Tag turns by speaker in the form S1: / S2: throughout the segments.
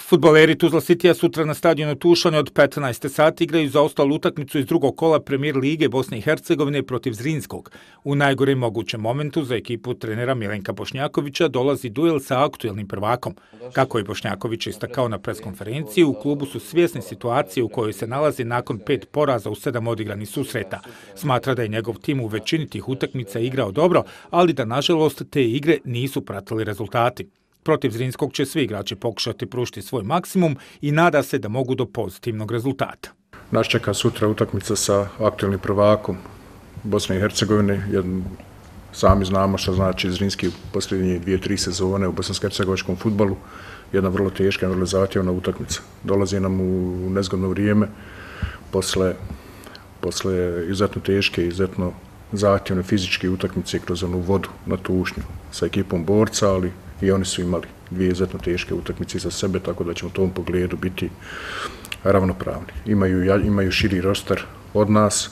S1: Fudbaleri Tuzla Citya sutra na stadionu Tušane od 15 sati igraju zaostalu utakmicu iz drugog kola Premier lige Bosne i Hercegovine protiv Zrinskog. U najgorem mogućem momentu za ekipu trenera Milenka Bošnjakovića dolazi duel sa aktuelnim prvakom. Kako je Bošnjaković istakao na preskonferenciji, u klubu su svjesni situacije u kojoj se nalazi nakon 5 poraza u 7 odigranih susreta. Smatra da je njegov tim u većini tih utakmica igrao dobro, ali da nažalost te igre nisu pratili rezultati. Protiv Zrinskog će svi igrači pokušati pružiti svoj maksimum i nada se da mogu do pozitivnog rezultata.
S2: Nas čeka sutra utakmica sa aktuelnim prvakom Bosne i Hercegovine. Sami znamo što znači Zrinski u posljednje 2-3 sezone u bosansko-hercegovačkom fudbalu. Jedna vrlo teška, vrlo zahtjevna utakmica. Dolazi nam u nezgodno vrijeme posle izuzetno teške, izuzetno zahtjevne fizičke utakmice kroz onu vodu na Tušnju sa ekipom Borca, ali i oni su imali 2 izuzetno teške utakmice za sebe, tako da ćemo u tom pogledu biti ravnopravni. Imaju širi roster od nas,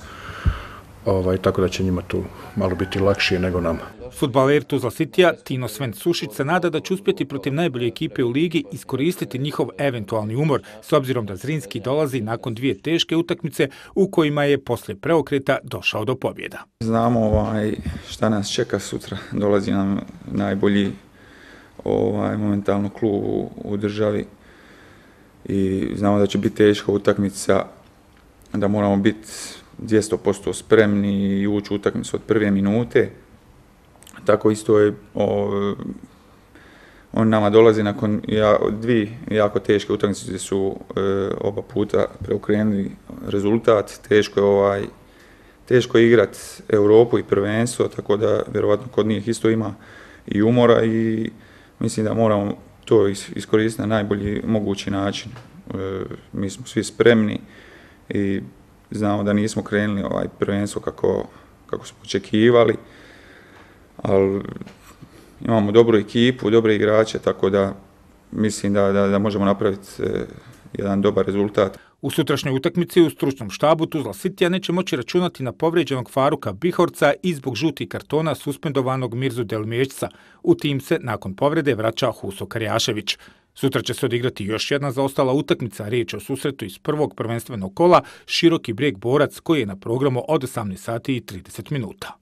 S2: tako da će njima to malo biti lakše nego nama.
S1: Fudbaler Tuzla Citya Tino Sven Sušić se nada da će uspjeti protiv najbolje ekipe u ligi iskoristiti njihov eventualni umor, s obzirom da Zrinski dolazi nakon 2 teške utakmice u kojima je poslije preokreta došao do pobjeda.
S3: Znamo šta nas čeka sutra. Dolazi nam najbolji momentalno klub u državi i znamo da će biti teška utakmica, da moramo biti 200% spremni i ući u utakmicu od prve minute. Tako isto je, on nama dolazi nakon 2 jako teške utakmice gdje su oba puta preokrenuli rezultat. Teško je igrati Europu i prvenstvo, tako da vjerovatno kod njih isto ima i umora i mislim da moramo to iskoristiti na najbolji mogući način. Mi smo svi spremni i znamo da nismo krenuli prvenstvo kako smo očekivali, ali imamo dobru ekipu, dobre igrače, tako da mislim da možemo napraviti jedan dobar rezultat.
S1: U sutrašnjoj utakmici u stručnom štabu Tuzla Citya neće moći računati na povrijeđenog Faruka Bihorca i zbog žutih kartona suspendovanog Mirzu Delmješca. U tim se nakon povrede vraća Huso Karjašević. Sutra će se odigrati još jedna zaostala utakmica, riječ o susretu iz prvog prvenstvenog kola Široki Brijeg Borac koji je na programu od 18 sati i 30 minuta.